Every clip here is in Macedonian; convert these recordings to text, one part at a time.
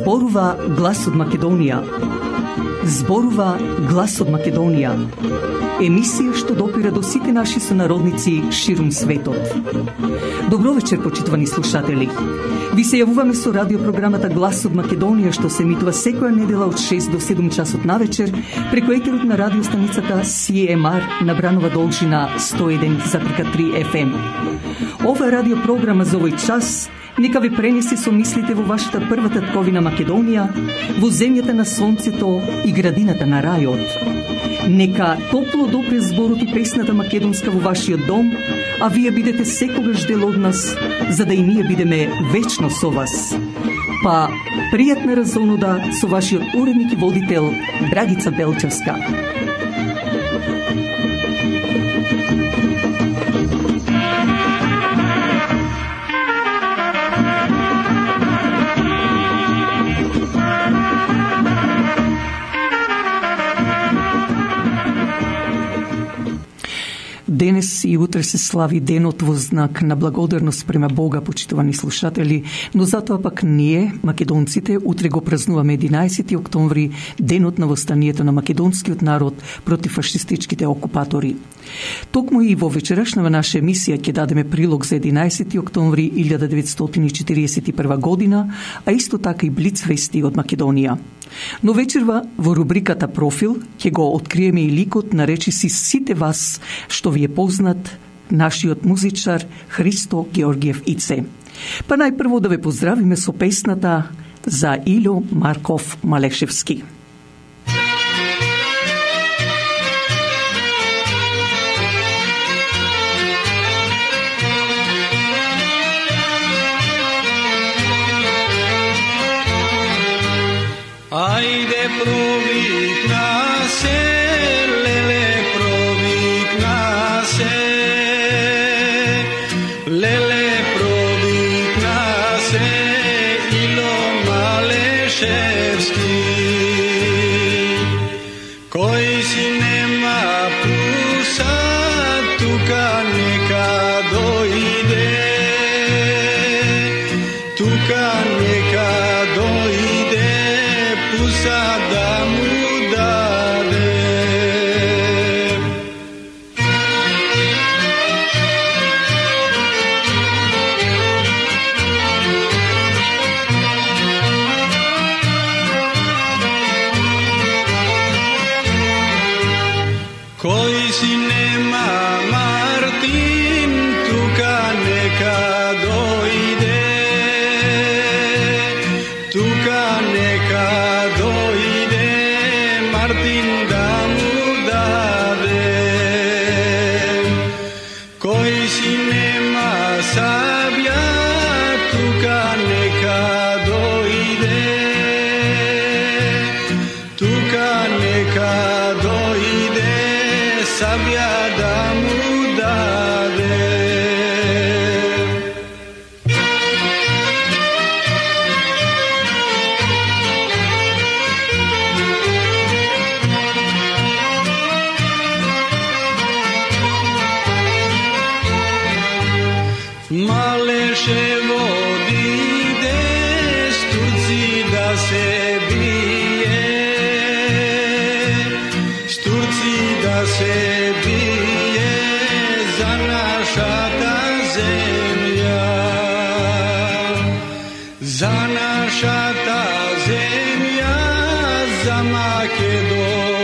Зборува глас од Македонија. Зборува глас од Македонија. Емисија што допира до сите наши сонародници ширум светот. Добро вечер, почитувани слушатели. Ви се јавуваме со радиопрограмата Глас од Македонија, што се емитува секоја недела од 6 до 7 часот на вечер преку етерот на радиостаницата CMR на Бранова должина 101,3 FM. Ова радиопрограма за овој час нека ви пренесе со мислите во вашата прва татковина Македонија, во земјата на сонцето и градината на рајот. Нека топло допре зборот и песната македонска во вашиот дом, а вие бидете секогаш дел од нас, за да и ние бидеме вечно со вас. Па, пријатна разонуда со вашиот уредник и водител Драгица Белчевска. Денес и утре се слави денот во знак на благодарност према Бога, почитувани слушатели, но затоа пак ние, македонците, утре го празнуваме 11 октомври, денот на востанието на македонскиот народ против фашистичките окупатори. Токму и во вечерашнава наша емисија ќе дадеме прилог за 11 октомври 1941 година, а исто така и блиц вести од Македонија. Но вечерва во рубриката Профил ќе го откриеме и ликот на речиси сите вас што ви е познат, нашиот музичар Христо Георгиев Ице. Па најпрво да ве поздравиме со песната за Илјо Марков Малешевски. Ајде провикна се, леле провикна се, леле провикна се, Илјо Малешевски. Кој си нема пуса, тука нека дојде, тука нека дојде, пуса да му даде. Кој си нема Мартин, тука нека дојде, тука нека дојде, Мартин да му даде. Кој си нема Сабја, тука нека дојде, тука нека дојде, Сабја да му даде. Малешево диде, с турци да се бие, с турци да се бие за нашата земја, за нашата земја, за Македонија,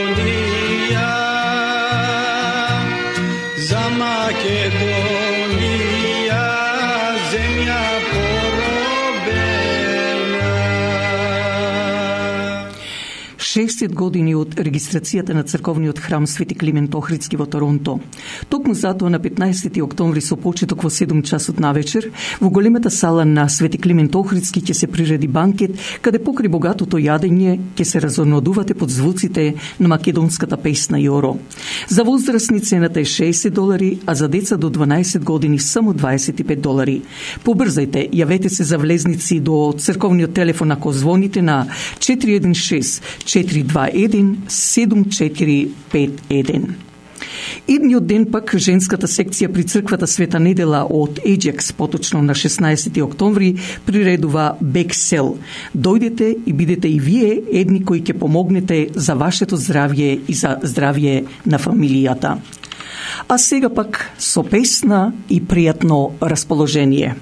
за Македонија, земја поробена. 60 години од регистрацијата на црковниот храм Свети Климент Охридски во Торонто. Токму затоа на 15 октомври со почеток во 7 часот навечер во големата сала на Свети Климент Охридски ќе се приреди банкет каде покрај богатото јадење ќе се разонодувате под звуците на македонската песна Јоро. За возрастни цената е $60, а за деца до 12 години само $25. Побрзајте, јавете се за влезници до црковниот телефон ако звоните на 416-421-7451. Идниот ден пак женската секција при црквата Света Недела од Еджекс, поточно на 16 октомври, приредува Бексел. Дојдете и бидете и вие едни кои ќе помогнете за вашето здравје и за здравје на фамилијата. А сега пак со песна и пријатно расположение.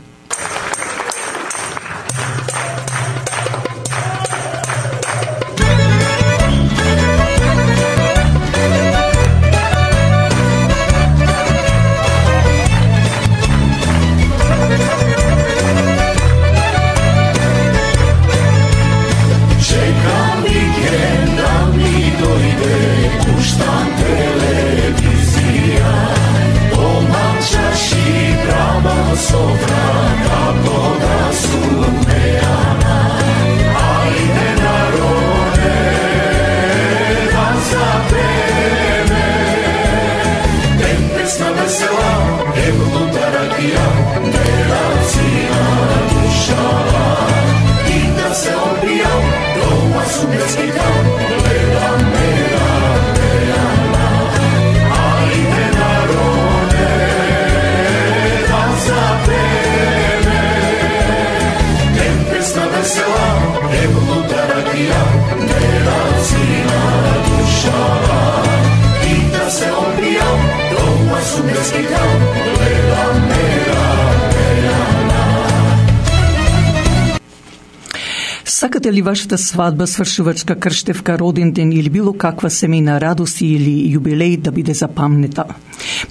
Сакате ли вашата свадба, свршувачка, крштевка, роден ден или било каква семејна радост или јубилеј да биде запамнета?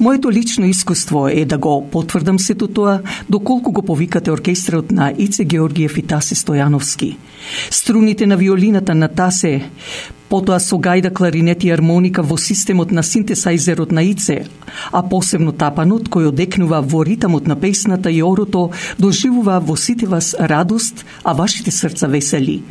Моето лично искуство е да го потврдам сето тоа доколку го повикате оркестрот на Ице Георгиев и Тасе Стојановски. Струните на виолината на Тасе, потоа со гајда, кларинет и армоника во системот на синтесајзерот на Ице, а посебно тапанот кој одекнува во ритамот на песната и орото, доживува во сите вас радост, а вашите срца весели.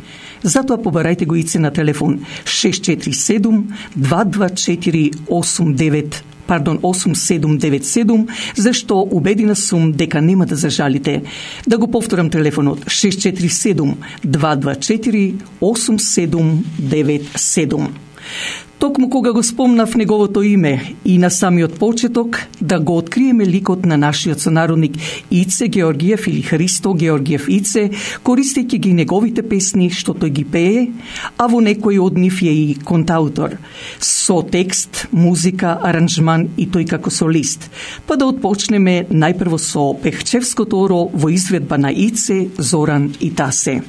Затоа побарајте го Ице на телефон 647-224-8797, зашто убедена сум дека нема да зажалите. Да го повторам телефонот 647-224-8797. Токму кога го спомнав неговото име и на самиот почеток, да го откриеме ликот на нашиот сонародник Ице Георгиев или Христо Георгиев Ице, користејќи ги неговите песни што тој ги пее, а во некој од нив е и контаутор, со текст, музика, аранжман и тој како солист. Па да отпочнеме најпрво со Пехчевското оро во изведба на Ице, Зоран и Тасе.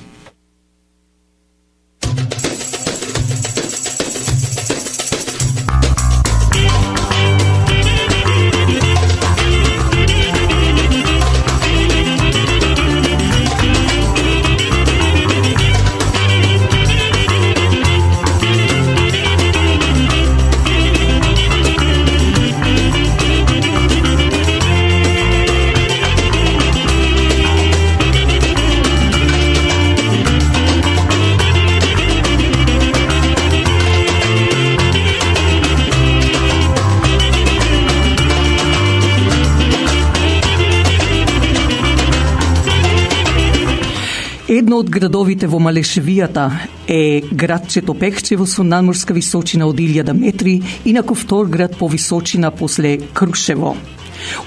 Едно од градовите во Малешевијата е градчето Пехчево со надморска височина од 1000 метри, инаку втор град по височина после Крушево.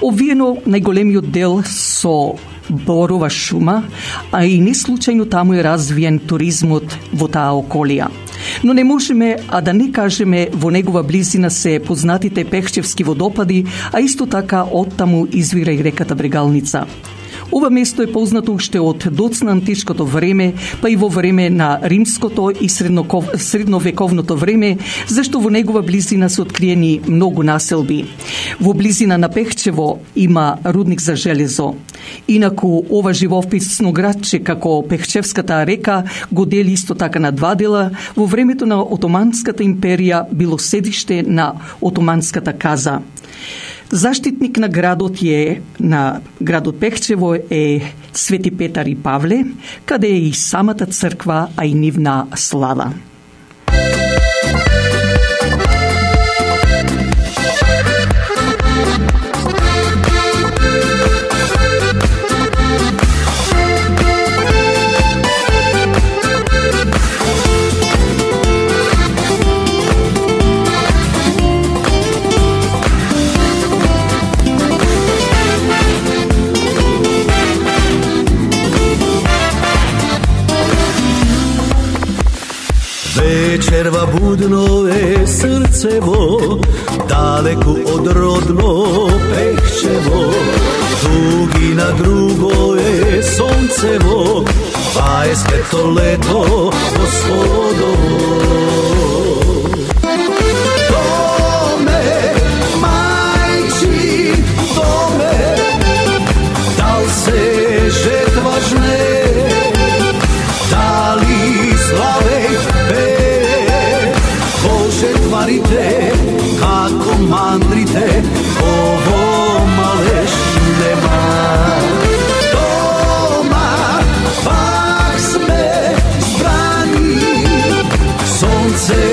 Обвиено најголемиот дел со борова шума, а и не случајно таму е развиен туризмот во таа околија. Но не можеме, а да не кажеме, во негова близина се познатите Пехчевски водопади, а исто така оттаму извира и реката Брегалница. Ова место е познато уште од доцна античкото време, па и во време на римското и средновековното време, зашто во негова близина се откриени многу населби. Во близина на Пехчево има рудник за железо. Инаку ова живописно градче, како Пехчевската река, го дели исто така на два дела. Во времето на Отоманската империја било седиште на Отоманската каза. Заштитник на градот Пехчево е Свети Петар и Павле, каде е и самата црква, а и нивна слава. Вечерва будно е срцево, далеку од родно Пехчево. Дугина друго е сонцево, па е свето лето Господово. Доме, мајчи, доме, дал се жетва жне, дали славе жетварите, како мандрите, ово малеш нема. Дома пак сме збрани, сонце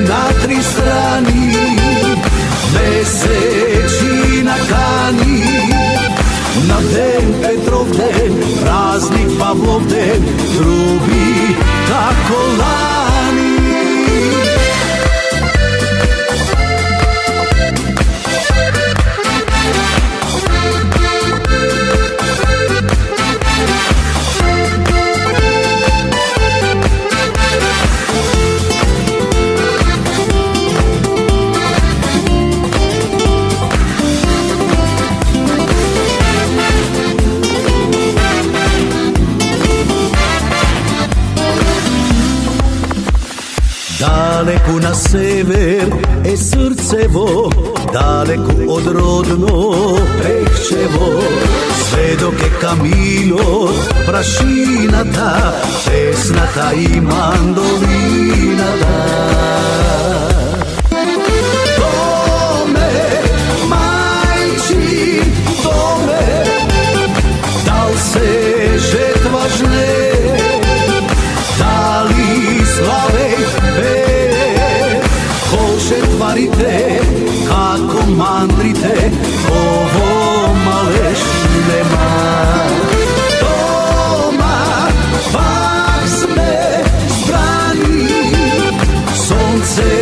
на три страни, месечина кани. На ден Петров ден, празник Павлов ден, труби како лани. Далеку на север е срцево, далеку од родно Пехчево. Сведок е каминот, прашината, песната и мандолината. Доме, мајчи, доме, дал се жетва жне, дали славе жетварите, како мандрите, ово малеш нема. Дома пак сме збрани, сонце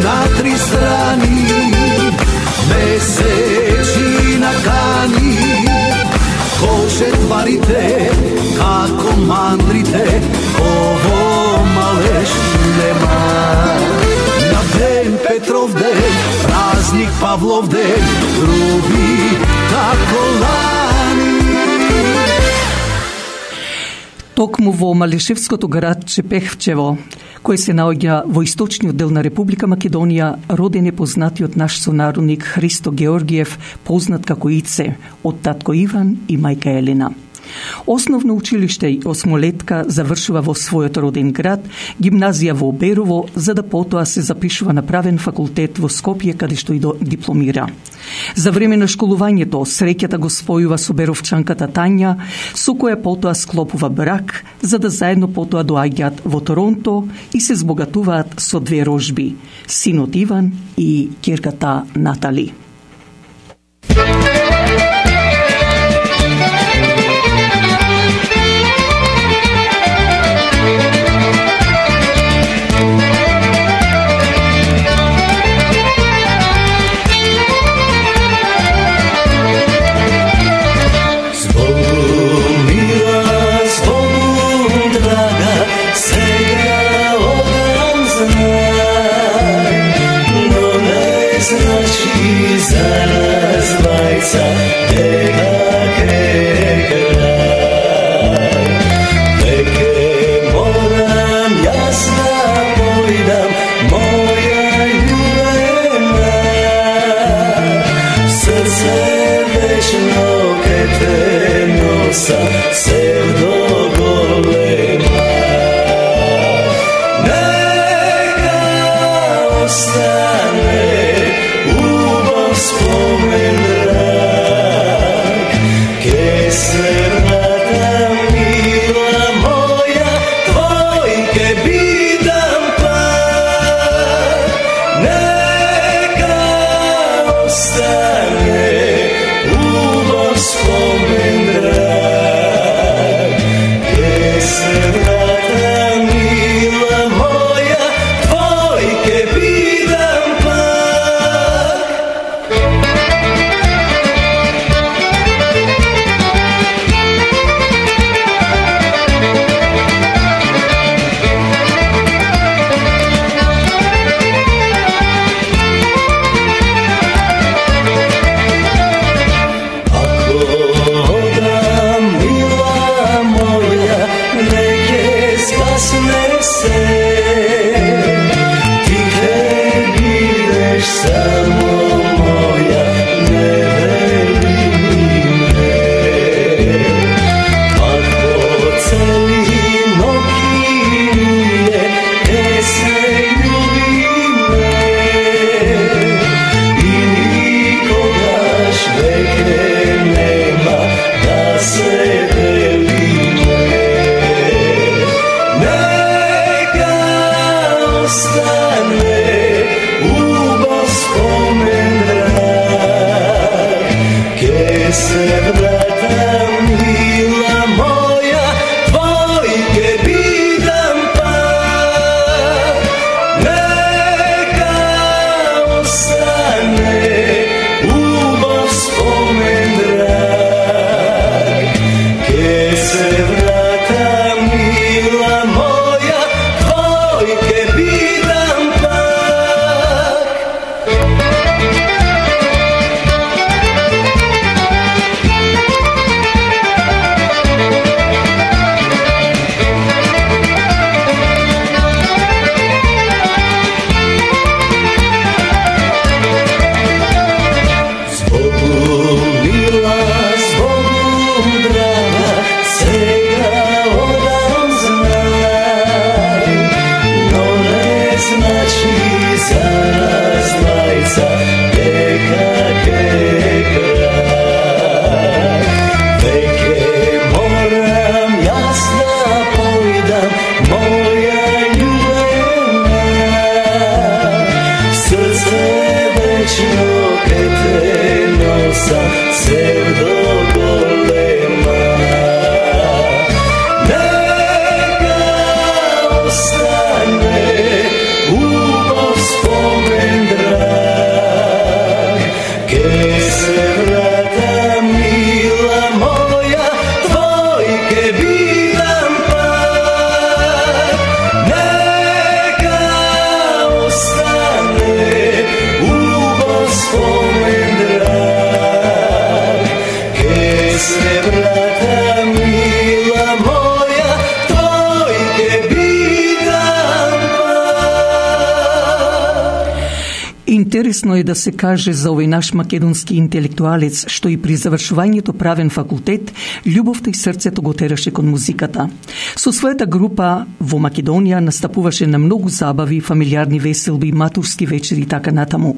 на три страни, месечина кани. Ко жетварите, како мандрите, ово малеш нема. Петров ден, празник Павлов ден, труби како лани. Токму во Малешевското градче Пехчево, кој се наоѓа во источниот дел на Република Македонија, роден е познатиот наш сонародник Христо Георгиев, познат како Ице, од татко Иван и мајка Елена. Основно училиште и осмолетка завршува во својот роден град, гимназија во Берово, за да потоа се запишува на правен факултет во Скопје, каде што и дипломира. За време на школувањето, среќата го спојува со беровчанката Тања, со која потоа склопува брак, за да заедно потоа доаѓаат во Торонто и се збогатуваат со две рожби, синот Иван и ќерката Натали. Za nas dvajca, neka Интересно е да се каже за овој наш македонски интелектуалец што и при завршувањето правен факултет љубовта и срцето го тераше кон музиката. Со својата група во Македонија настапуваше на многу забави, фамилиарни веселби, матурски вечери и така натаму.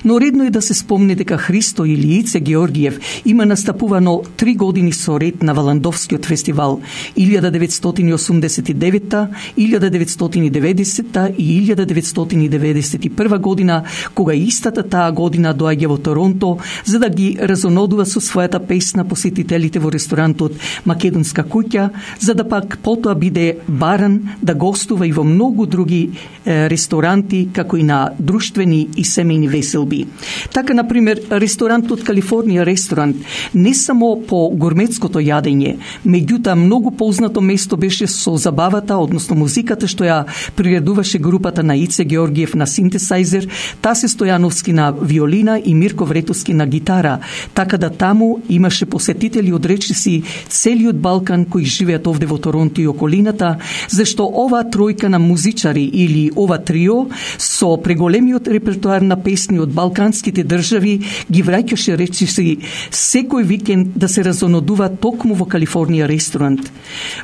Но редно е да се спомне дека Христо или Ице Георгиев има настапувано 3 години со ред на Валандовскиот фестивал 1989, 1990 и 1991 година, кога истата таа година доаѓа во Торонто за да ги разонодува со својата песна посетителите во ресторантот Македонска куќа, за да пак потоа биде баран да гостува и во многу други ресторанти, како и на друштвени и семејни веселби. Така, например, ресторантот Калифорнија ресторант не само по гурметското јадење, меѓутоа многу познато место беше со забавата, односно музиката што ја приредуваше групата на Ице Георгиев на синтесайзер. Таа се Стојановски на виолина и Мирко Вретовски на гитара, така да таму имаше посетители од речиси целиот Балкан кои живеат овде во Торонто и околината, зашто оваа тројка на музичари или ова трио со преголемиот репертоар на песни од балканските држави ги враќаше речиси секој викенд да се разонодува токму во Калифорнија ресторант.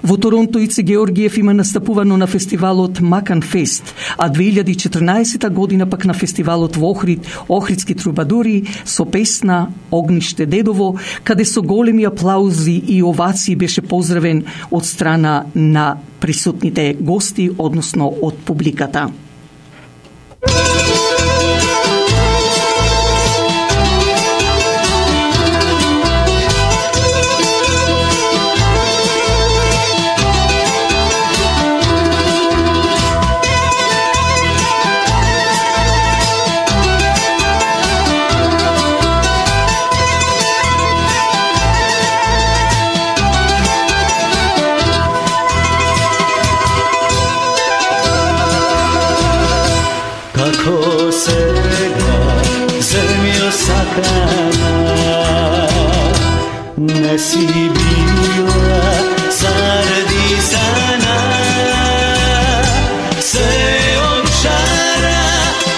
Во Торонто Ице Георгиев има настапувано на фестивалот Макан Фест, а 2014 година пак на фестивалот во Охрид, Охридски трубадури со песна Огниште дедово, каде со големи аплаузи и овации беше поздравен од страна на присутните гости, односно од публиката. Како сега земјо сакана, не си била заради сана, се од шара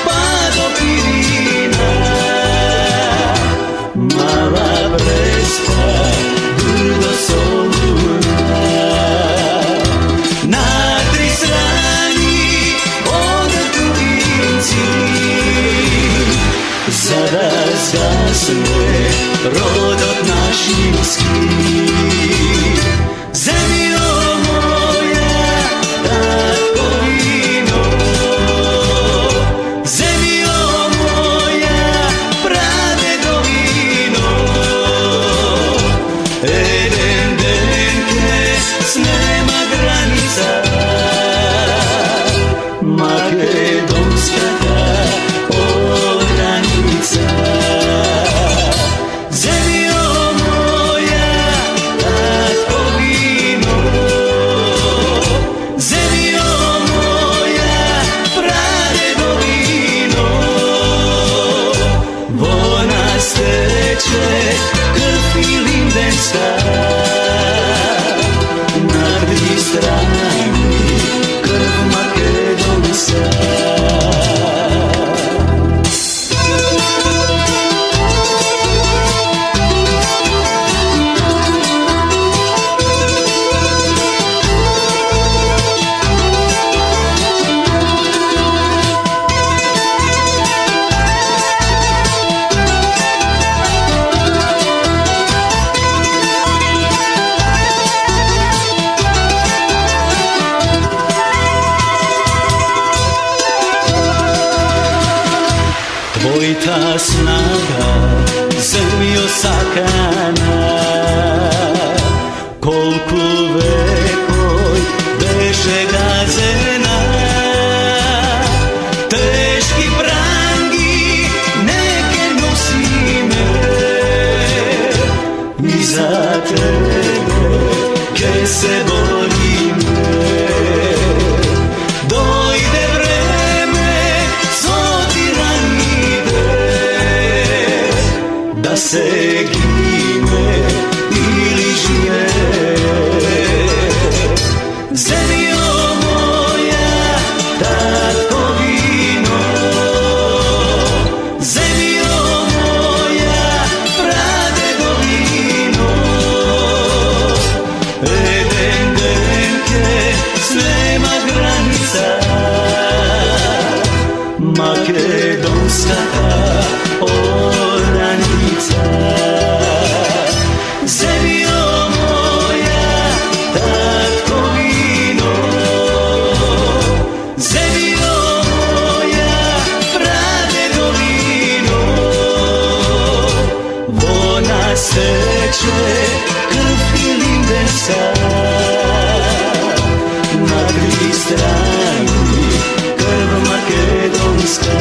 па до пирина, мала преспа дурго солуна, на три страни од за да згасне родот нашински. Земјо моја, татковино, земјо моја, прадедовино, еден ден ке снема граница, македонската земјо моја, татковино, земјо моја, прадедовино, во нас тече крв илинденска, на три страни крв македонска. Твојата снага, земјо сакана, колку векој беше газена, тешки пранги неке носиме, и за тебе ке се бориме. Дојде време со тираните, да се гине или живее. Земјо моја, татковино, земјо моја, прадедовино, еден ден ке снема граница, македонската ораница. Земјо моја, татковино, земјо моја, прадедовино, во нас тече крв илинденска, на три страни крв македонска.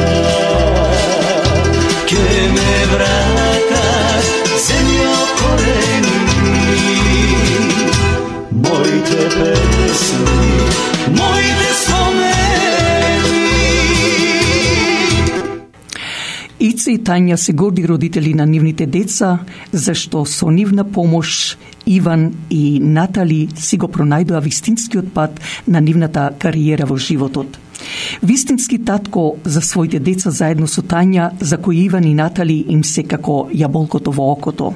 Ке ме вратат земјо корени, моите песни, моите спомени. Ице и Тања се горди родители на нивните деца, зашто со нивна помош Иван и Натали си го пронајдоа вистинскиот пат на нивната кариера во животот. Вистински татко за своите деца заедно со Тања, за кој Иван и Натали им се како јаболкото во окото.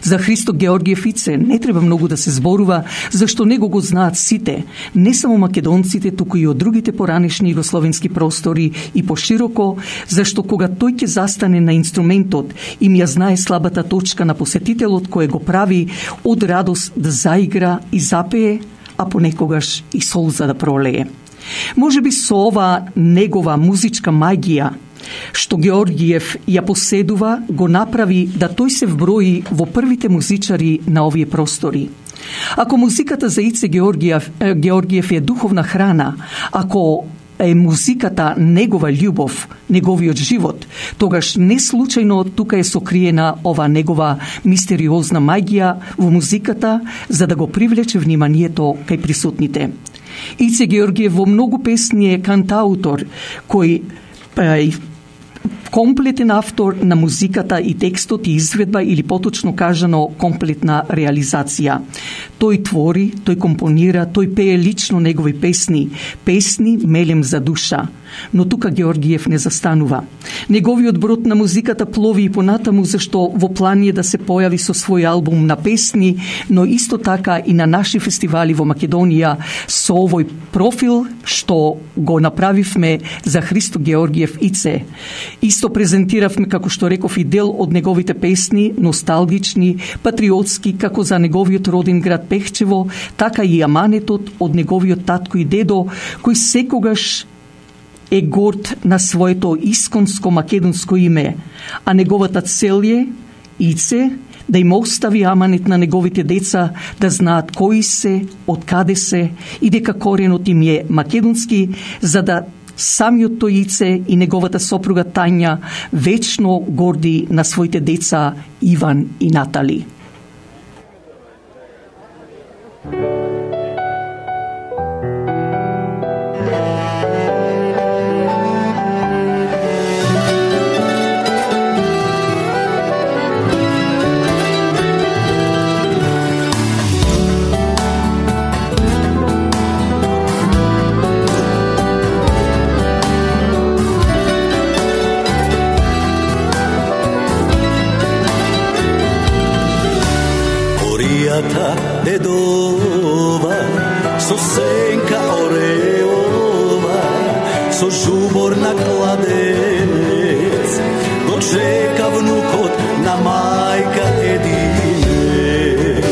За Христо Георгиев Ице не треба многу да се зборува, зашто него го знаат сите, не само македонците, туку и од другите поранешни југословенски простори и пошироко, зашто кога тој ќе застане на инструментот, им ја знае слабата точка на посетителот кој го прави од радост да заигра и запее, а понекогаш и солза да пролее. Можеби со ова негова музичка магија, што Георгиев ја поседува, го направи да тој се вброи во првите музичари на овие простори. Ако музиката за Ице Георгиев е духовна храна, ако е музиката негова љубов, неговиот живот, тогаш не случајно тука е сокриена ова негова мистериозна магија во музиката, за да го привлече вниманието кај присутните. Ице Георгиев во многу песни е кантаутор, кој комплетен автор на музиката и текстот и изведба, или поточно кажано комплетна реализација. Тој твори, тој компонира, тој пее лично негови песни, песни мелем за душа. Но тука Георгиев не застанува. Неговиот брод на музиката плови и понатаму, зашто во план е да се појави со свој албум на песни, но исто така и на наши фестивали во Македонија со овој профил што го направивме за Христо Георгиев Ице. Исто презентиравме, како што реков, и дел од неговите песни, носталгични, патриотски, како за неговиот роден град Пехчево, така и аманетот од неговиот татко и дедо, кој секогаш е горд на своето исконско македонско име, а неговата цел е, Ице, да им остави аманет на неговите деца, да знаат кои се, од каде се и дека коренот им е македонски, за да самиот тој Ице и неговата сопруга Тања вечно горди на своите деца Иван и Натали. Дедова, со сенка ореова, со жубор на кладенец, го чека внукот на мајка единец.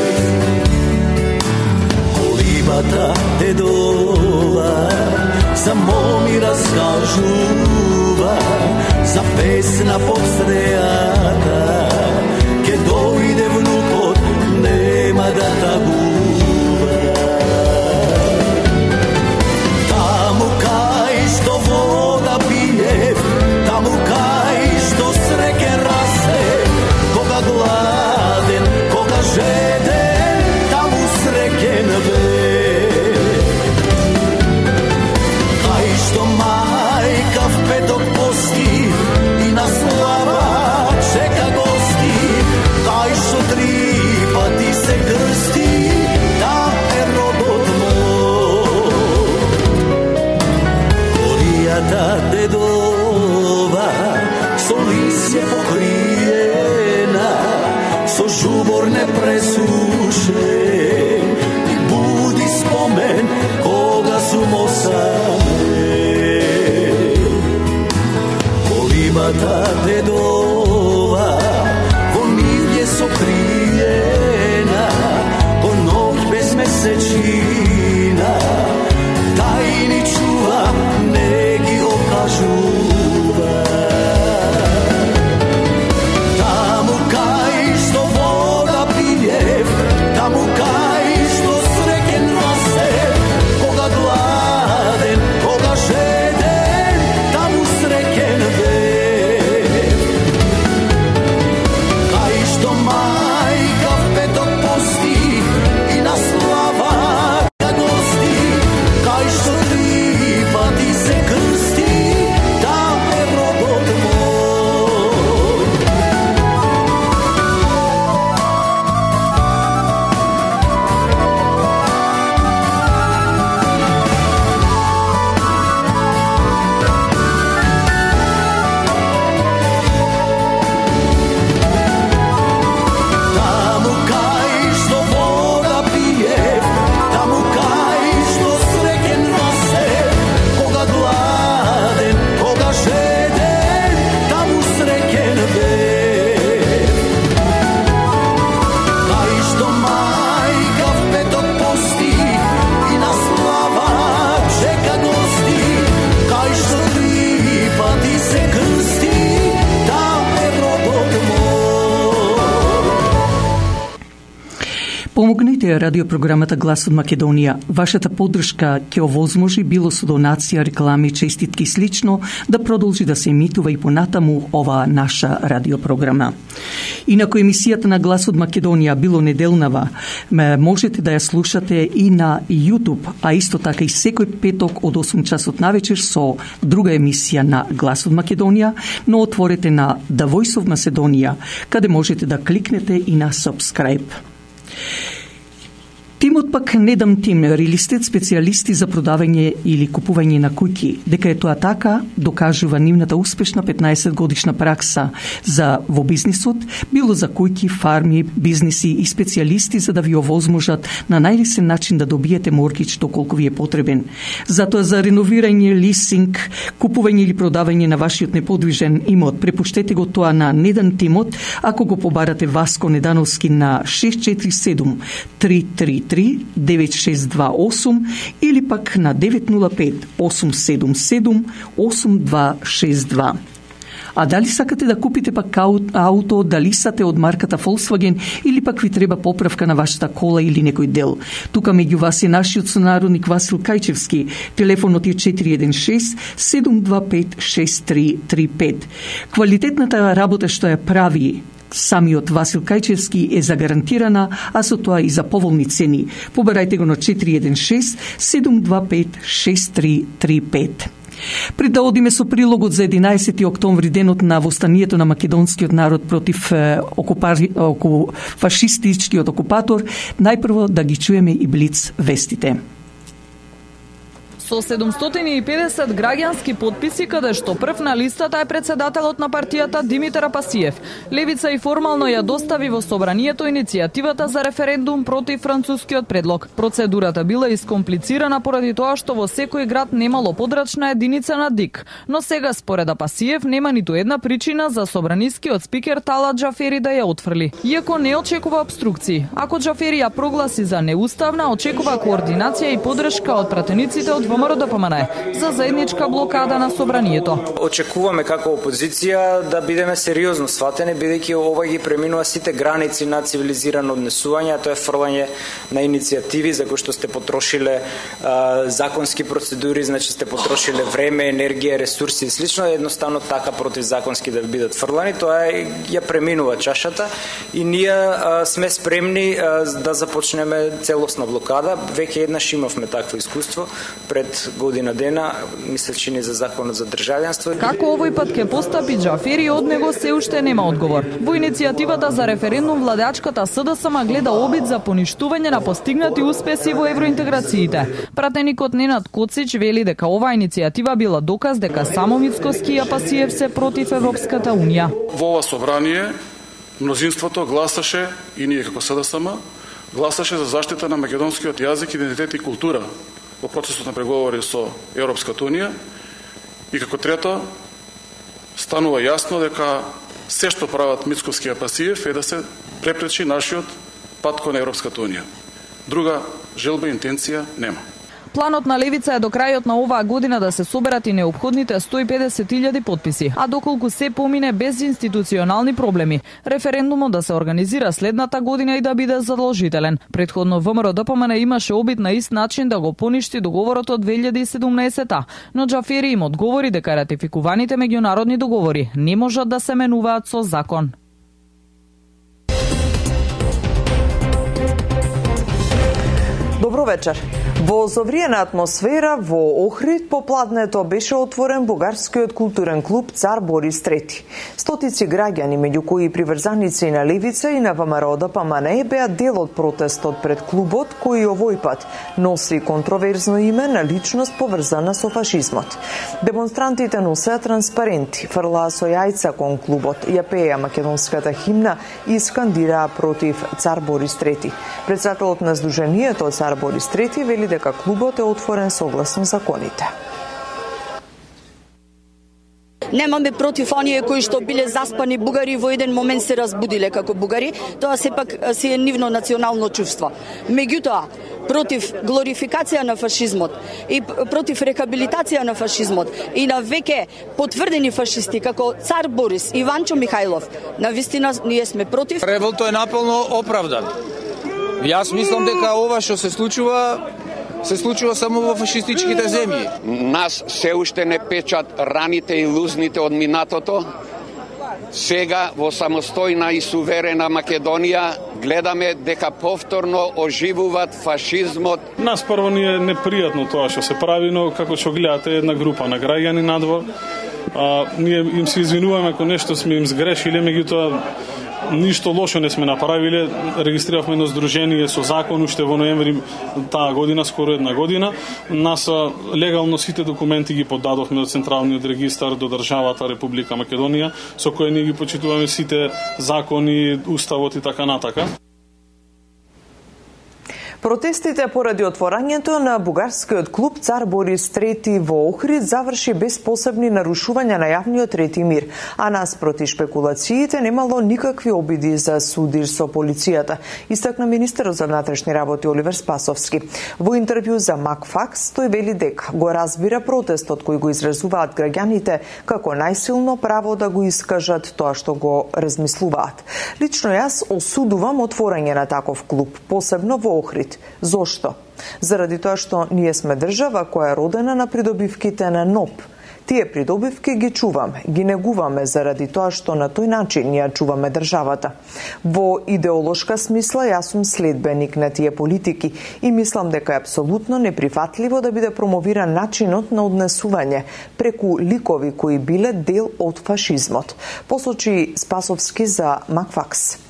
Колибата дедова, само ми раскажува, за песна под стрејата, ке дојде внукот, нема да тагува. Таму кај што вода пие, таму кај што среќа расте, кога гладен, кога жеден, таму среќен бе. Кај што мајка в петок пости и на слава чека гости, кај што три пати се крсти, да е родот мој. Коријата дедова со лисје покриена, со жубор не пресушен, и буди спомен кога сум осамен. Колибата дедова во милје сокриена, по ноќ без месечина, тајни чува, не ги окажува. Таму кај што вода пие, таму кај што среќен расте, кога гладен, кога жеден, таму среќен бе. Помогнете радиопрограмата Глас од Македонија. Вашата поддршка ќе овозможи било со донација, реклами, честитки и слично да продолжи да се емитува и понатаму ова наша радиопрограма. Инаку емисијата на Глас од Македонија било неделнава, можете да ја слушате и на YouTube, а исто така и секој петок од 8 часот навечер со друга емисија на Глас од Македонија, но отворете на The Voice of Macedonia, каде можете да кликнете и на subscribe. Тимот пак Недам Тим, рилистет специјалисти за продавање или купување на куќи, дека е тоа така, докажува нивната успешна 15 годишна пракса во бизнисот, било за куќи, фарми, бизниси и специјалисти за да ви овозможат на најлесен начин да добиете моргич доколку ви е потребен. Затоа за реновирање, лисинг, купување или продавање на вашиот неподвижен имот, препуштете го тоа на Недам Тимот, ако го побарате Васко Недановски на 647 333 9628 или пак на 905 877 8262. А дали сакате да купите пак ауто, дали сате од марката Volkswagen или пак ви треба поправка на вашата кола или некој дел? Тука меѓу вас е нашиот сонародник Васил Кајчевски. Телефонот е 416-725-6335. Квалитетната работа што ја прави самиот Васил Кајчевски е загарантирана, а со тоа и за поволни цени. Побарајте го на 416-725-6335. Пред да одиме со прилогот за 11. октомври, денот на востанието на македонскиот народ против фашистичкиот окупатор, најпрво да ги чуеме и блиц вестите. Со 750 граѓански потписи, каде што прв на листата е председателот на партијата Димитар Апасиев. Левица и формално ја достави во собранието иницијативата за референдум против францускиот предлог. Процедурата била искомплицирана поради тоа што во секој град немало подрачна единица на ДИК. Но сега според Апасиев нема ниту една причина за собранискиот спикер Талат Джафери да ја отфрли. Иако не очекува обструкции. Ако Джафери ја прогласи за неуставна, очекува координација и поддршка од пратениците од ВМРО ДПМН за заедничка блокада на собранието. Очекуваме како опозиција да бидеме сериозно сватени, бидејќи ова ги преминува сите граници на цивилизирано однесување, а тоа е фрлање на иницијативи за кои што сте потрошиле законски процедури, значи сте потрошиле време, енергија, ресурси и слично, едноставно така противзаконски да бидат фрлани, тоа ја преминува чашата и ние сме спремни да започнеме целосна блокада. Веќе еднаш имавме такво искуство пред година дена, мислечи ни за законот за државјанство. Како овој пат ќе постапи Джафери, од него се уште нема одговор. Во иницијативата за референдум владеачката СДСМ гледа обид за поништување на постигнати успеси во евроинтеграциите. Пратеникот Ненад Коцич вели дека оваа иницијатива била доказ дека само Мицкоски и Апасиев се против Европската унија. Во ова собрание мнозинството гласаше, и ние како СДСМ, гласаше за заштита на македонскиот јазик, идентитет и култура во процесот на преговори со Европската унија, и како трето станува јасно дека се што прават Мицкоски и Апасиев е да се препречи нашиот пат кон Европската унија. Друга желба и интенција нема. Планот на Левица е до крајот на оваа година да се соберат и неопходните 150.000 потписи, а доколку се помине без институционални проблеми, референдумот да се организира следната година и да биде задолжителен. Претходно ВМРО ДПМН имаше обид на ист начин да го поништи договорот од 2017-та, но Джафери им одговори дека ратификуваните меѓународни договори не можат да се менуваат со закон. Добро вечер. Во совриена атмосфера во Охрид попладнето беше отворен бугарскиот културен клуб Цар Борис III. Стотици граѓани, меѓу кои приврзаници на Левица и на ВМРО ДПМН, беа дел од протестот пред клубот, кој овој пат носи контроверзно име на личност поврзана со фашизмот. Демонстрантите носеа транспаренти, фрлаа со јајца кон клубот, ја пееа македонската химна и скандираа против Цар Борис III. Председателот на Сдруженијето Цар Борис III вели дека клубот е отворен согласно законите. Немаме против оние кои што биле заспани бугари во еден момент се разбудиле како бугари, тоа сепак си е нивно национално чувство. Меѓутоа, против глорификација на фашизмот и против рехабилитација на фашизмот и на веќе потврдени фашисти како Цар Борис и Иванчо Михајлов, навистина ние сме против. Револтот е наполно оправдан. Јас мислам дека ова што се случува само во фашистичките земји. Нас се уште не печат раните и лузните од минатото. Сега во самостојна и суверена Македонија гледаме дека повторно оживуваат фашизмот. Нас прво ни е непријатно тоа што се прави, но како што гледате една група на граѓани надвор, ние им се извинуваме ако нешто сме им сгрешиле, меѓутоа ништо лошо не сме направиле. Регистрировавме едно здружение со закон уште во ноември таа година, скоро една година. Нас легално сите документи ги подадовме од Централниот регистар до државата Република Македонија, со кои ние ги почитуваме сите закони, уставот и така натака. Протестите поради отворањето на бугарскиот клуб Цар Борис III во Охрид заврши без посебни нарушувања на јавниот ред и мир, а наспроти шпекулациите немало никакви обиди за судир со полицијата, истакна министерот за внатрешни работи Оливер Спасовски. Во интервју за Макфакс тој вели дека го разбира протестот кој го изразуваат граѓаните како најсилно право да го искажат тоа што го размислуваат. Лично јас осудувам отворање на таков клуб, посебно во Охрид. Зошто? Заради тоа што ние сме држава која е родена на придобивките на НОП. Тие придобивки ги чуваме, ги негуваме заради тоа што на тој начин ја чуваме државата. Во идеолошка смисла јас сум следбеник на тие политики и мислам дека е апсолутно неприфатливо да биде промовиран начинот на однесување преку ликови кои биле дел од фашизмот, посочи Спасовски за Макфакс.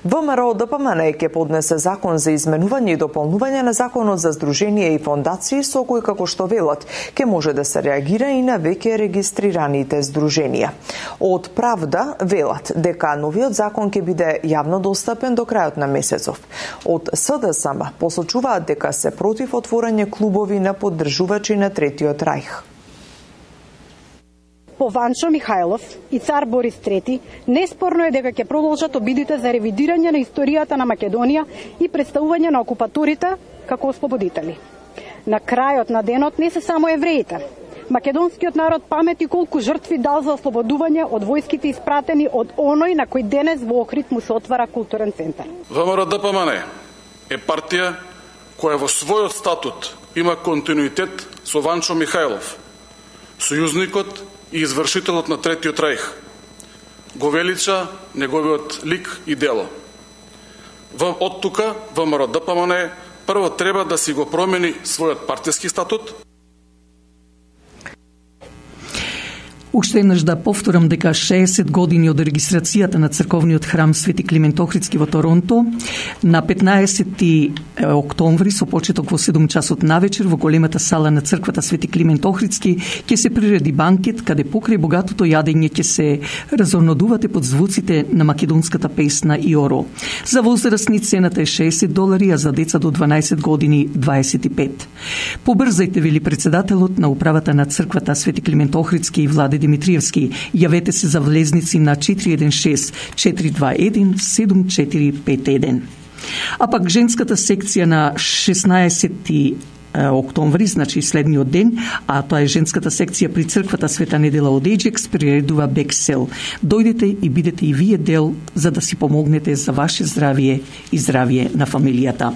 ВМРО ДПМН ќе поднесе закон за изменување и дополнување на законот за здруженија и фондации со кој, како што велат, ќе може да се реагира и на веќе регистрираните здруженија. Од Правда велат дека новиот закон ќе биде јавно достапен до крајот на месецов. Од СДСМ посочуваат дека се против отворање клубови на поддржувачи на Третиот рајх. По Ванчо Михајлов и Цар Борис III, неспорно е дека ќе продолжат обидите за ревидирање на историјата на Македонија и представување на окупаторите како ослободители. На крајот на денот не се само евреите. Македонскиот народ памети колку жртви дал за ослободување од војските испратени од оној на кој денес во Охрид му се отвара културен центар. ВМРО ДПМН е партија која во својот статут има континуитет со Ванчо Михајлов, сојузникот и извршителот на Третиот рајх. Го велича неговиот лик и дело. Од тука ВМРО ДПМН прво треба да си го промени својот партиски статут. Уште еднаш да повторам дека 60 години од регистрацијата на црковниот храм Свети Климент Охридски во Торонто, на 15 октомври со почеток во 7 часот навечер во големата сала на црквата Свети Климент Охридски ќе се приреди банкет каде покрај богатото јадење ќе се разонодувате под звуците на македонската песна Иоро. За возрастни цената е $60, а за деца до 12 години 25. Побрзајте, вели председателот на управата на црквата Свети Климент Охридски и Владе Димитриевски. Јавете се за влезници на 416-421-7451. А пак женската секција на 16 октомври, значи следниот ден, а тоа е женската секција при црквата Света Недела од Еджекс, приредува Бексел. Дојдете и бидете и вие дел за да си помогнете за ваше здравје и здравје на фамилијата.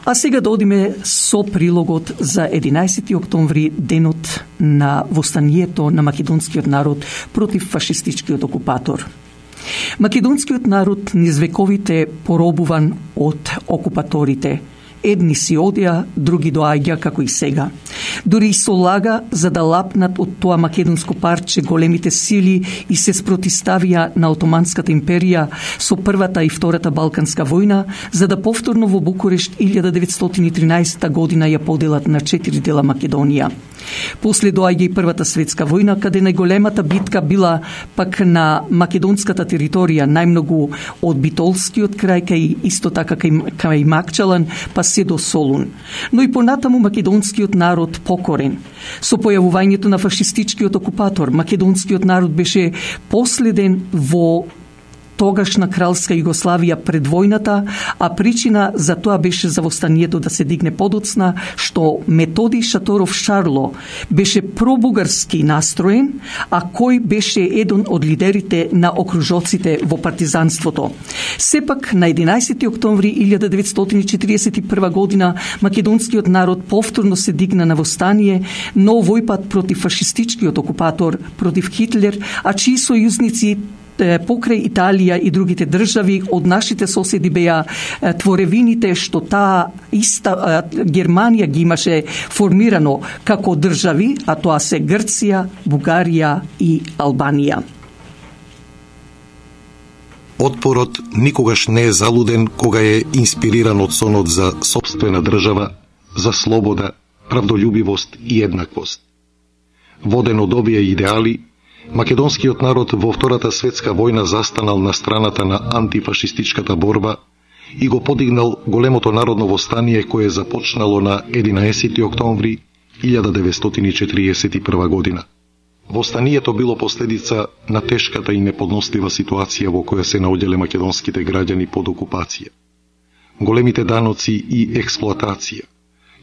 А сега да одиме со прилогот за 11 октомври, денот на востанието на македонскиот народ против фашистичкиот окупатор. Македонскиот народ низ вековите поробуван од окупаторите. Едни си одија, други доаѓа како и сега. Дури и со лага за да лапнат од тоа македонско парче големите сили и се спротиставија на Отоманската империја со Првата и Втората Балканска војна, за да повторно во Букурешт 1913 година ја поделат на 4 дела Македонија. После доаѓа и Првата светска војна, каде најголемата битка била пак на македонската територија, најмногу од Битолскиот крај кај исто така кај Макчалан, па се до Солун. Но и понатаму македонскиот народ покорен. Со појавувањето на фашистичкиот окупатор, македонскиот народ беше последен во тогашна кралска Југославија пред војната, а причина за тоа беше за востанието да се дигне подоцна, што Методи Шаторов Шарло беше пробугарски настроен, а кој беше еден од лидерите на окружоците во партизанството. Сепак, на 11. октомври 1941 година, македонскиот народ повторно се дигна на востание, но овој пат против фашистичкиот окупатор, против Хитлер, а чии сојузници покрај Италија и другите држави од нашите соседи беа творевините што таа иста Германија ги имаше формирано како држави, а тоа се Грција, Бугарија и Албанија. Отпорот никогаш не е залуден кога е инспириран од сонот за сопствена држава, за слобода, правдолюбивост и еднаквост. Воден од овие идеали, македонскиот народ во Втората светска војна застанал на страната на антифашистичката борба и го подигнал големото народно востание кое започнало на 11. октомври 1941 година. Востанието било последица на тешката и неподнослива ситуација во која се наоѓале македонските граѓани под окупација. Големите даноци и експлоатација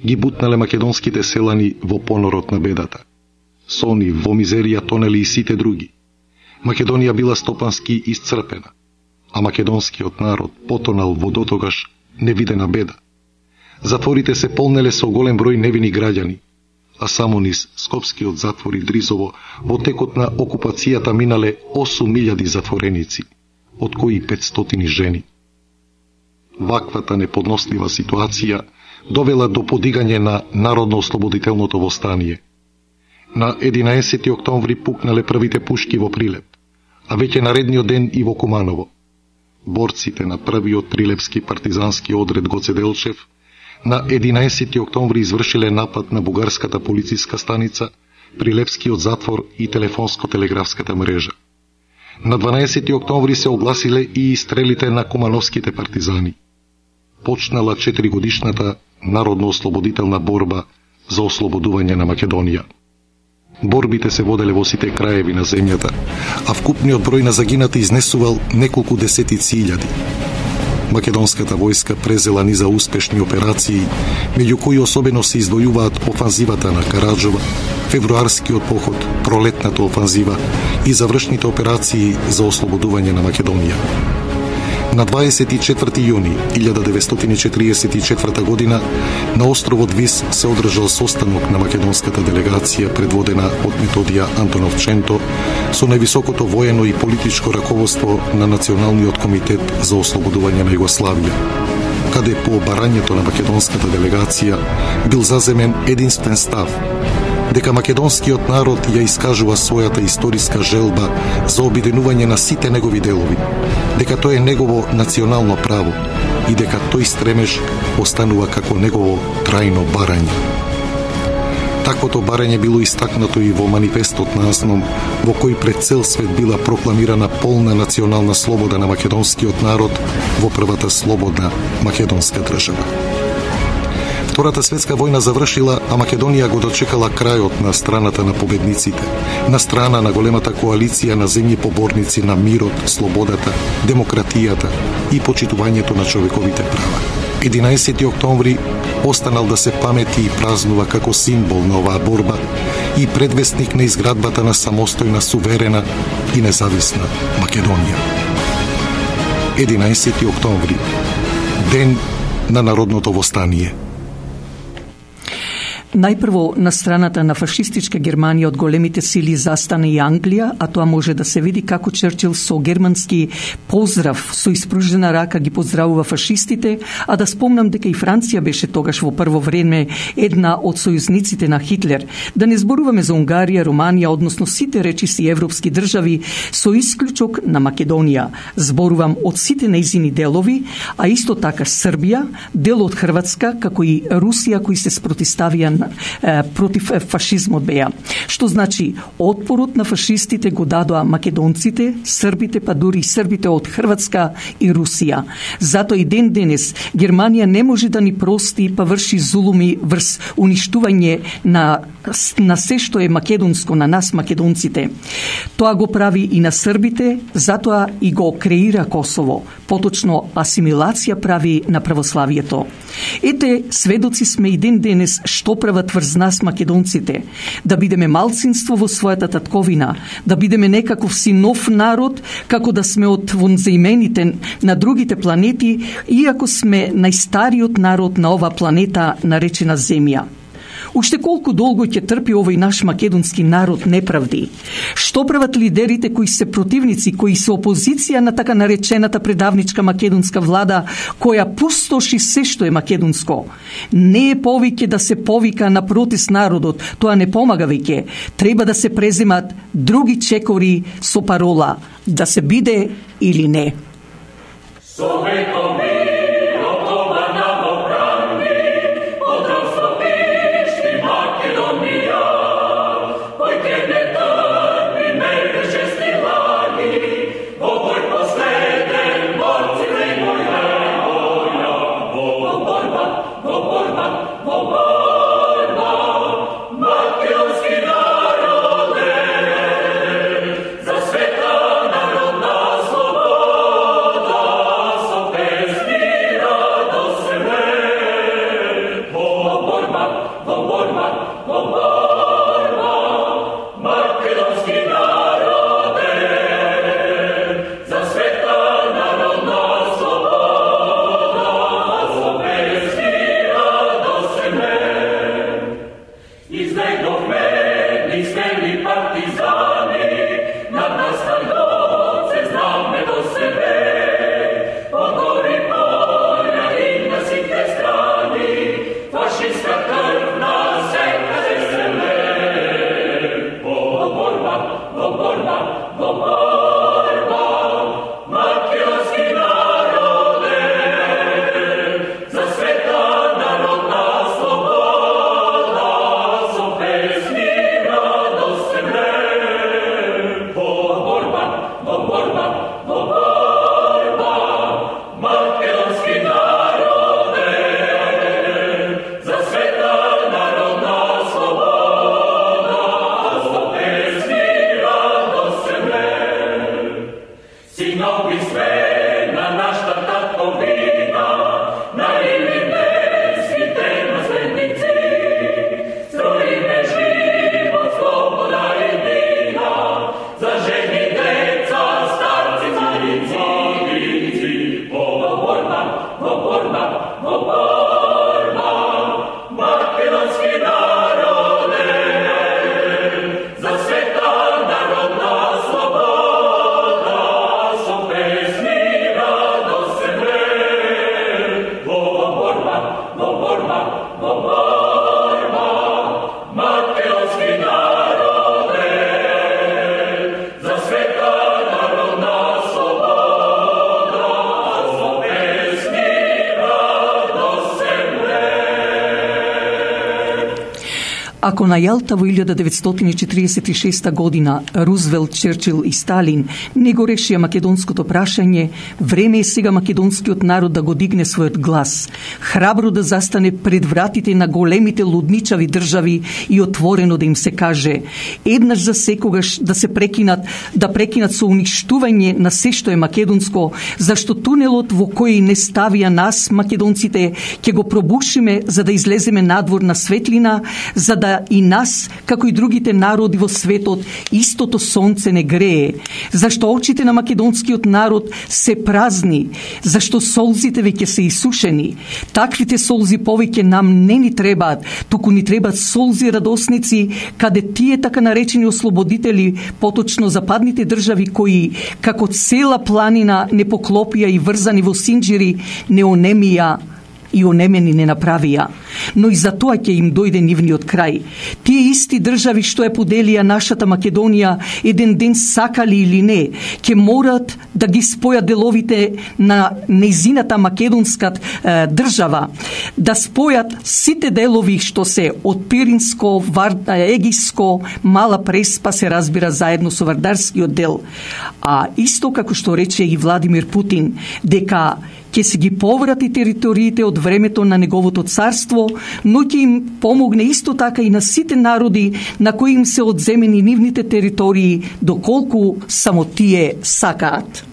ги бутнале македонските селани во понорот на бедата. Со нив во мизерија тонели и сите други. Македонија била стопански исцрпена, а македонскиот народ потонал во дотогаш невидена беда. Затворите се полнеле со голем број невини граѓани, а само низ Скопскиот затвор и Дризово во текот на окупацијата минале 8000 затвореници, од кои 500 жени. Ваквата неподнослива ситуација довела до подигање на Народно-ослободителното востание. На 11. октомври пукнале првите пушки во Прилеп, а веќе наредниот ден и во Куманово. Борците на првиот прилепски партизански одред Гоце Делчев на 11. октомври извршиле напад на бугарската полициска станица, Прилепскиот затвор и телефонско-телеграфската мрежа. На 12. октомври се огласиле и изстрелите на кумановските партизани. Почнала 4-годишната народно-ослободителна борба за ослободување на Македонија. Борбите се воделе во сите краеви на земјата, а вкупниот број на загинати изнесувал неколку десетици илјади. Македонската војска презела низа успешни операции, меѓу кои особено се издвојуваат офанзивата на Караджова, февруарскиот поход, пролетната офанзива и завршните операции за ослободување на Македонија. На 24. јуни 1944 година на островот Вис се одржал состанок на македонската делегација предводена од Методија Антоновченто со највисокото воено и политичко раководство на Националниот комитет за ослободување на Југославија, каде по барањето на македонската делегација бил заземен единствен став дека македонскиот народ ја искажува својата историска желба за обединување на сите негови делови, дека тоа е негово национално право и дека тој стремеж останува како негово трајно барање. Таквото барање било истакнато и во манифестот на Азном, во кој пред цел свет била прокламирана полна национална слобода на македонскиот народ во првата слободна македонска држава. Втората светска војна завршила, а Македонија го дочекала крајот на страната на победниците, на страна на големата коалиција на земји поборници на мирот, слободата, демократијата и почитувањето на човековите права. 11. октомври останал да се памети и празнува како символ на оваа борба и предвестник на изградбата на самостојна, суверена и независна Македонија. 11. октомври, ден на народното востание. Најпрво на страната на фашистичка Германија од големите сили застана и Англија, а тоа може да се види како Черчил со германски поздрав со испружена рака ги поздравува фашистите, а да спомнам дека и Франција беше тогаш во прво време една од сојузниците на Хитлер. Да не зборуваме за Унгарија, Романија, односно сите речиси европски држави со исклучок на Македонија. Зборувам од сите нејзини делови, а исто така Србија, дел од Хрватска, како и Русија кои се спротиставија на против фашизмот беа. Што значи отпорот на фашистите го дадоа македонците, србите, па дури и србите од Хрватска и Русија. Затоа и ден денес Германија не може да ни прости па врши зулуми врз уништување на се што е македонско, на нас македонците. Тоа го прави и на србите, затоа и го креира Косово. Поточно асимилација прави на православието. Ете, сведоци сме и ден денес што прават врз нас македонците. Да бидеме малцинство во својата татковина, да бидеме некаков си нов народ, како да сме од вонзаимените на другите планети, иако сме најстариот народ на ова планета наречена Земја. Уште колку долго ќе трпи овој наш македонски народ неправди? Што прават лидерите кои се противници, кои се опозиција на така наречената предавничка македонска влада, која пустоши се што е македонско? Не е повеќе да се повика на протест народот, тоа не помага веќе. Треба да се преземат други чекори со парола да се биде или не. Ако на Јалта во 1946 година Рузвелт, Черчил и Сталин не го решија македонското прашање, време е сега македонскиот народ да го дигне својот глас, храбро да застане пред вратите на големите лудничави држави и отворено да им се каже: еднаш за секогаш да се прекинат со уништување на се што е македонско, зашто тунелот во кој не ставија нас македонците ќе го пробушиме за да излеземе надвор на светлина, за да и нас, како и другите народи во светот, истото сонце не грее, зашто очите на македонскиот народ се празни, зашто солзите веќе се исушени. Таквите солзи повеќе нам не ни требаат, туку ни требаат солзи радосници, каде тие така наречени ослободители, поточно западните држави кои, како цела планина не поклопија и врзани во синџири, не онемија и онемени не направија, но и за тоа ќе им дојде нивниот крај. Тие исти држави што ја поделија нашата Македонија, еден ден сакали или не, ќе морат да ги спојат деловите на нејзината македонска држава, да спојат сите делови што се од Пиринско, Егиско, Мала Преспа се разбира заедно со Вардарскиот дел. А исто како што рече и Владимир Путин, дека ќе се ги поврати териториите од времето на неговото царство, но ќе им помогне исто така и на сите народи на кои им се одземени нивните територии, доколку само тие сакаат.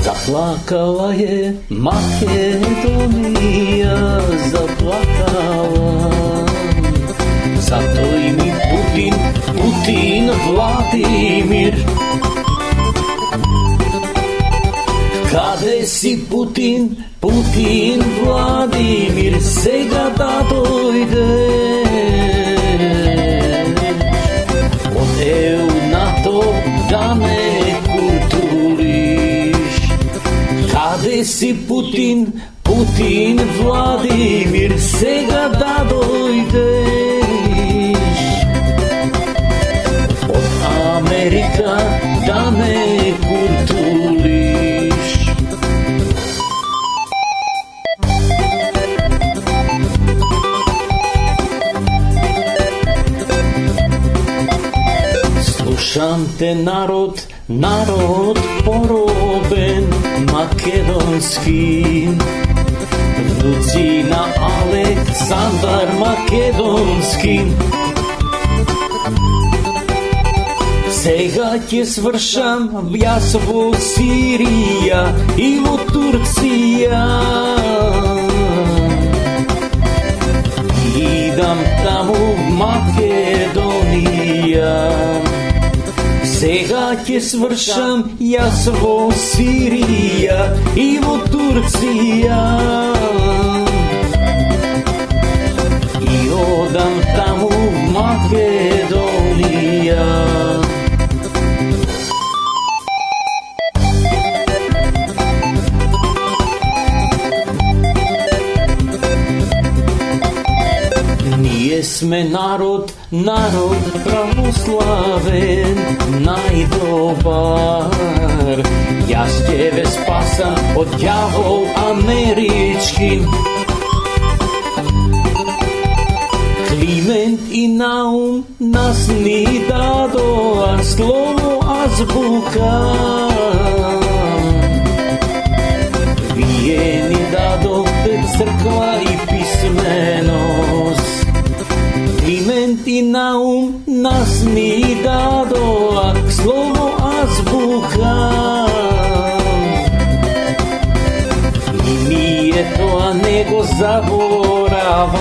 Заплакала е Македонија, заплакала. Затој ми Путин, Владимир. Каде си Путин, Владимир, сега да дојде. Од ЕУ, НАТО да ме културиш. Каде си Путин, Владимир, сега да дојдеш. Од Америка да ме културиш. Слушам те народ поробен, македонски. Внуци на Александар Македонски. Сега ќе свршам јас во Сирија и во Турција. Идам таму в Македонија. Сега ќе свршам јас во Сирија и во Турција. И одам таму в Македонија. Ние сме народ православен, најдобар. Јас ќе ве спасам од ѓавол амерички. Климент и Наум нас ни дадоа слово азбука. Вие ни дадовте црква и писменост. Климент и Наум нас ни дадоа слово азбука. И ние тоа не го забораваме.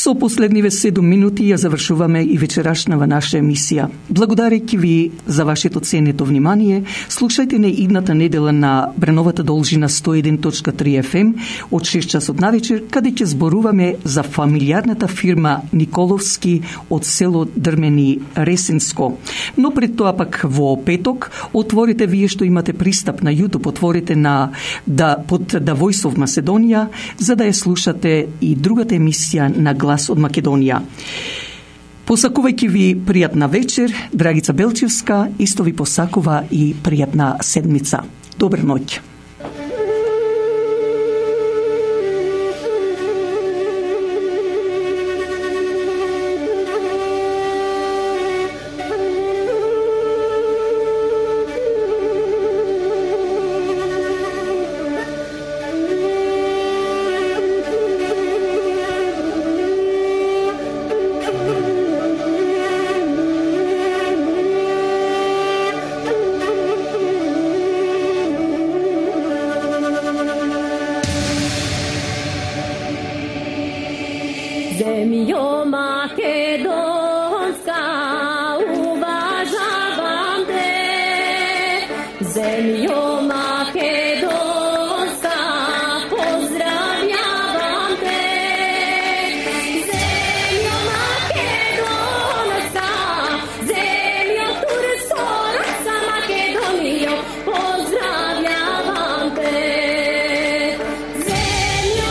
Со последниве 7 минути ја завршуваме и вечерашнава наша емисија. Благодарејќи ви за вашето ценето внимание, слушајте не идната недела на бреновата должина 101.3 FM од 6 часот навечер, каде ќе зборуваме за фамилиарната фирма Николовски од село Дрмени Ресенско. Но пред тоа пак во петок, отворите вие што имате пристап на YouTube, отворите под The Voice of Macedonia, за да ја слушате и другата емисија на Глас од Македонија. Посакувајќи ви пријатна вечер, Драгица Белчевска исто ви посакува и пријатна седмица. Добра ноќ. Zemljo makedonska, uvažavam te. Zemljo makedonska, pozdravljavam te. Zemljo makedonska, zemljo turskoraca Makedonijo, pozdravljavam te. Zemljo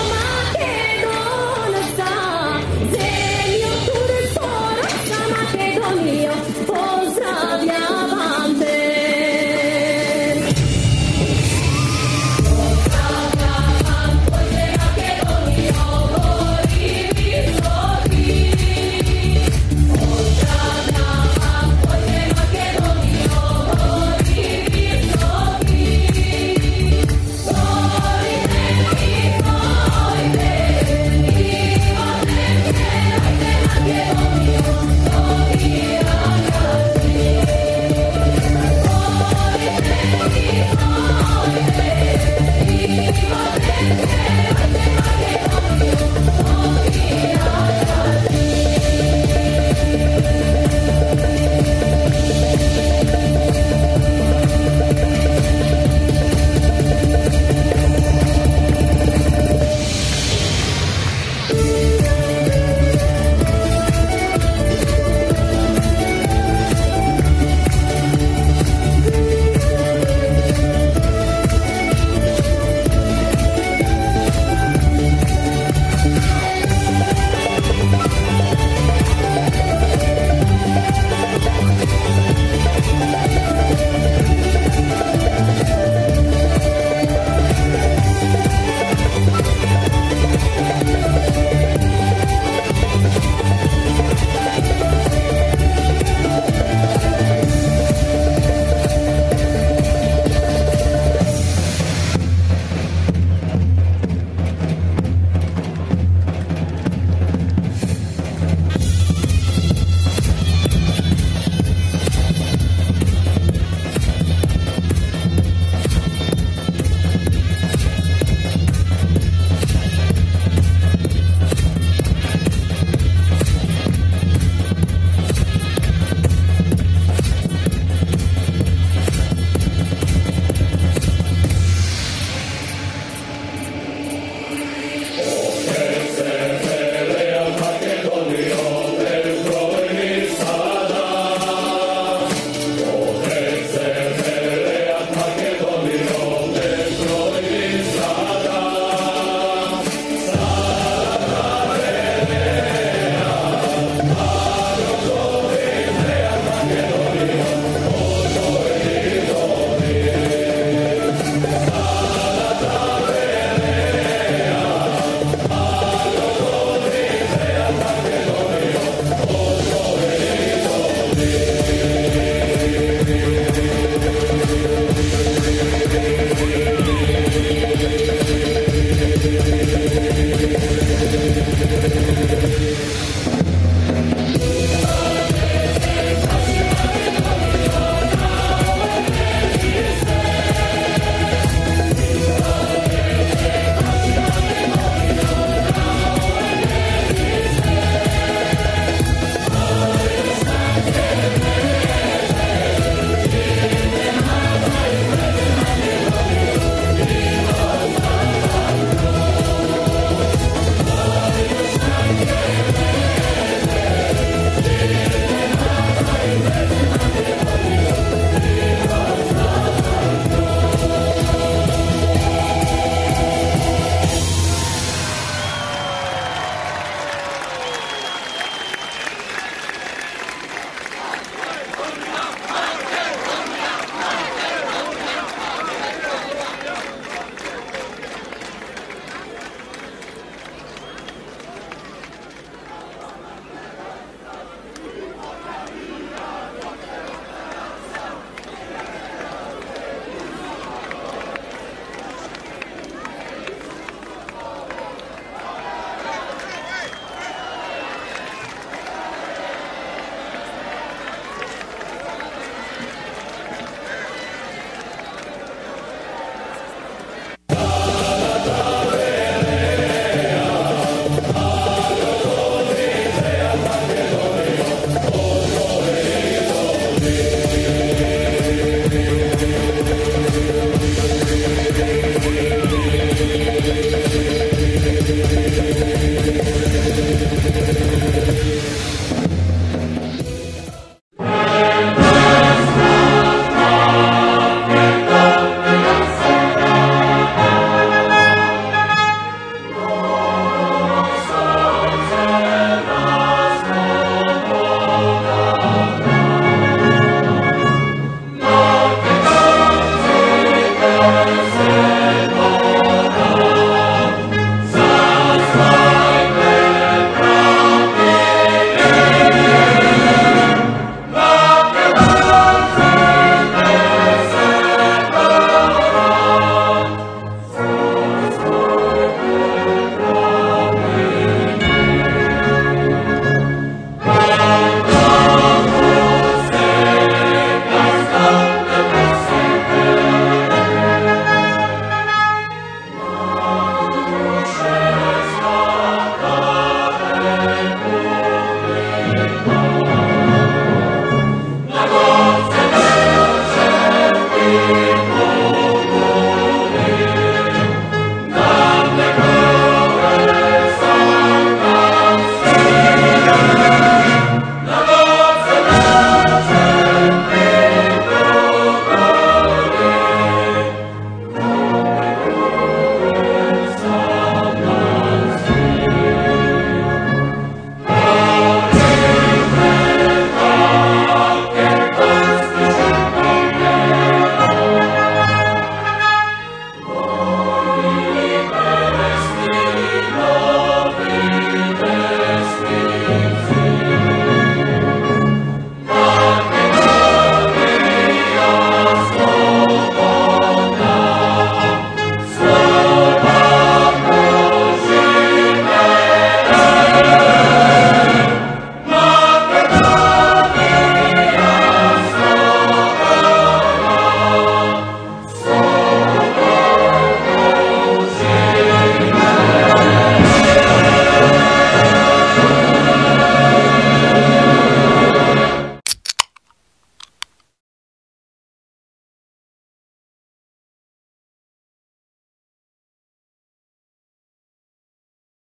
Македонија.